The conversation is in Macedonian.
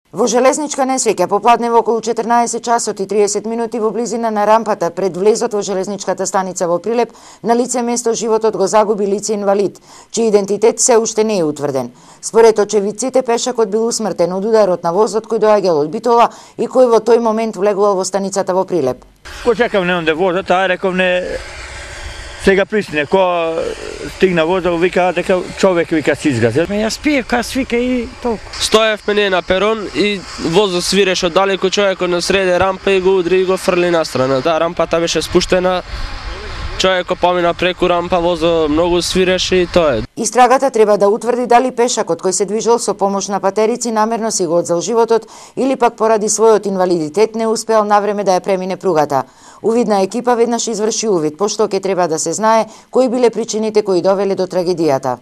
Во железничка несреќа попладне во околу 14 часот и 30 минути во близина на рампата пред влезот во железничката станица во Прилеп, на лице место животот го загуби лице инвалид, чиј идентитет се уште не е утврден. Според очевидците, пешакот бил усмртен од ударот на возот кој доаѓал од Битола и кој во тој момент влегувал во станицата во Прилеп. Ко чекав не онде возот, реков не сега пристигне, ко стигна возот, вика дека човек вика се изгази. Јас пиев кај свика и толку. Стоев мене на перон и возот свиреше од далеко, човекот на среде рампа и го удри и го фрли настрана. Таа рампата беше спуштена. Човекот помина преку рампа, возот многу свиреше и тоа е. Истрагата треба да утврди дали пешакот кој се движел со помош на патерици намерно си го одзел животот или пак поради својот инвалидитет не успеал навреме да ја премине пругата. Увидна екипа веднаш изврши увид, пошто ќе треба да се знае кои биле причините кои довеле до трагедијата.